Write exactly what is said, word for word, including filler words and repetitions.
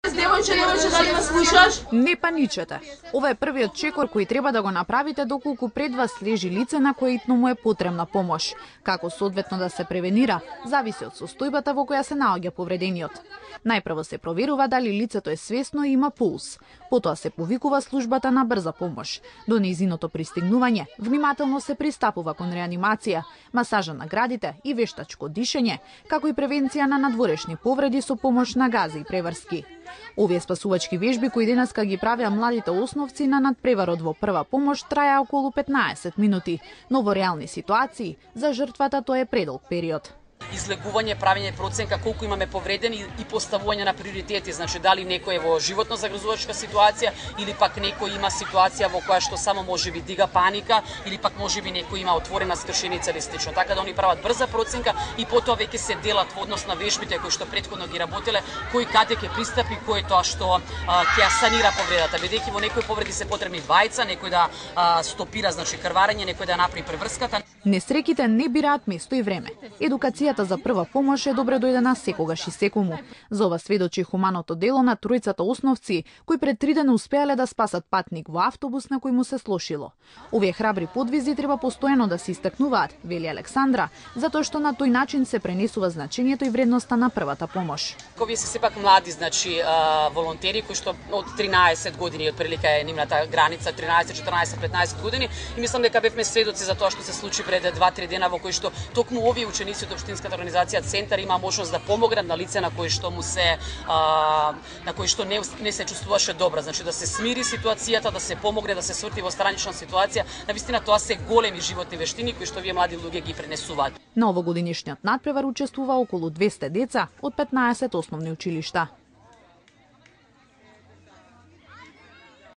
Девојче, девојче, дали ме слушаш? Не паничете. Ова е првиот чекор кој треба да го направите доколку пред вас лежи лице на кое итно му е потребна помош. Како соодветно да се превенира, зависи од состојбата во која се наоѓа повредениот. Најпрво се проверува дали лицето е свесно и има пулс. Потоа се повикува службата на брза помош. До нејзиното пристигнување, внимателно се пристапува кон реанимација, масажа на градите и вештачко дишење, како и превенција на надворешни повреди со помош на гази и преврски. Овие спасувачки вежби кои денеска ги правеа младите основци на надпреварот во прва помош траја околу петнаесет минути, но во реални ситуации за жртвата тоа е предолг период. Излегување, правење проценка колку имаме повредени и поставување на приоритети, значи дали некој е во животно загрозувачка ситуација или пак некој има ситуација во која што само можеби дига паника или пак можеби некој има отворена скршеница или слично. Така да они прават брза проценка и потоа веќе се делат во однос на вежбите кои што претходно ги работеле, кој каде ќе пристапи, кој е тоа што ќе санира повредата, бидејќи во некои повреди се потребни двајца, некој да а, стопира значи крварење, некој да направи преврската. Несреќите не бираат место и време. Едукацијата за прва помош е добре дојдена секогаш и секому. За ова сведочи хуманото дело на тројцата основци кои пред три дена успеале да спасат патник во автобус на кој му се слошило. Овие храбри подвизи треба постојано да се истакнуваат, вели Александра, затоа што на тој начин се пренесува значењето и вредноста на првата помош. Овие се сепак млади, значи волонтери кои што од тринаесет години отприлика е нивната граница, тринаесет, четрнаесет, петнаесет години и мислам дека бевме сведоци за тоа што се случи пред два-три дена во кои што токму овие ученици од општинската организација Центар има можност да помогнат на лице на кои што му се а, на кои што не, не се чувствуваше добро, значи да се смири ситуацијата, да се помогне да се сврти во странична ситуација. Навистина тоа се големи животни вештини кои што овие млади луѓе ги пренесуваат. На овогодишниот надпревар учествува околу двесте деца од петнаесет основни училишта.